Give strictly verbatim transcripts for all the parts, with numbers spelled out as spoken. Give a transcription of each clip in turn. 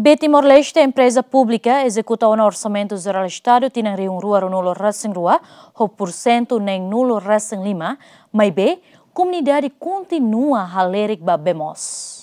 Be Timor-Leste, empreza públika ezekuta ona Orsamentu Jerál Estadu tinan rihun rua ruanulu resin rua ho pursentu neen nulu resin lima, maibé komunidade kontinua halerik ba bee moos.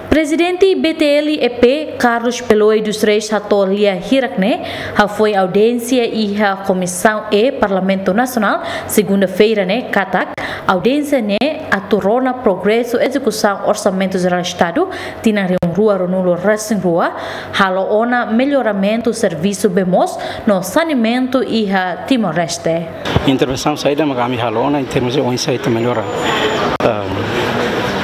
Prezidente B T L E P, Carlos Peloy dos Reis, hato'o lia hirak ne'e hafoin audiénsia iha Komisaun E Parlamentu Nasionál, segunda-feira ne'e, katak audiénsia ne'e atu rona progresu ezekusaun Orsamentu Jerál Estadu tinan rihun rua ruanulu resin rua, halo ona melloramentu servisu bee moos no saneamentu iha Timor-Leste. Intervensaun saida mak ami halo ona em termos de oinsá ita mellora, ah,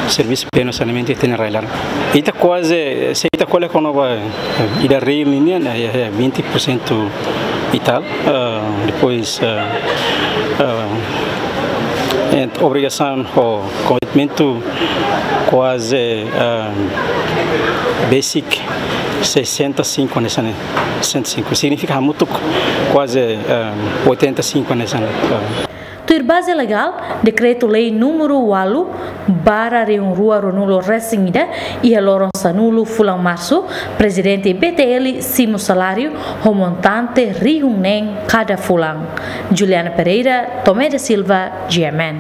servisu bee no saneamentu iha ita-nia rai-laran. Ita kuaze, se ita ko'alia kona-ba, eh, ida reál nian, eh, eh, vinte por cento e tal. Ah, depois, ah, ah, ent-, obrigasaun ho komitmentu kuaze, ah, basic sessenta e cinco hanesan ne'e, sessenta e cinco. Signifika hamutuk kuaze, ah, oitenta e cinco hanesan ne'e. Ah. Tuir baze legál, Dekretu-Lei númeru ualu barra rihun rua ruanulu resin ida, iha loron sanulu fulan Marsu, Prezidente B T L simu saláriu ho montante rihun neen kada fulan. Juliana Pereira, Tomé da Silva, G M N.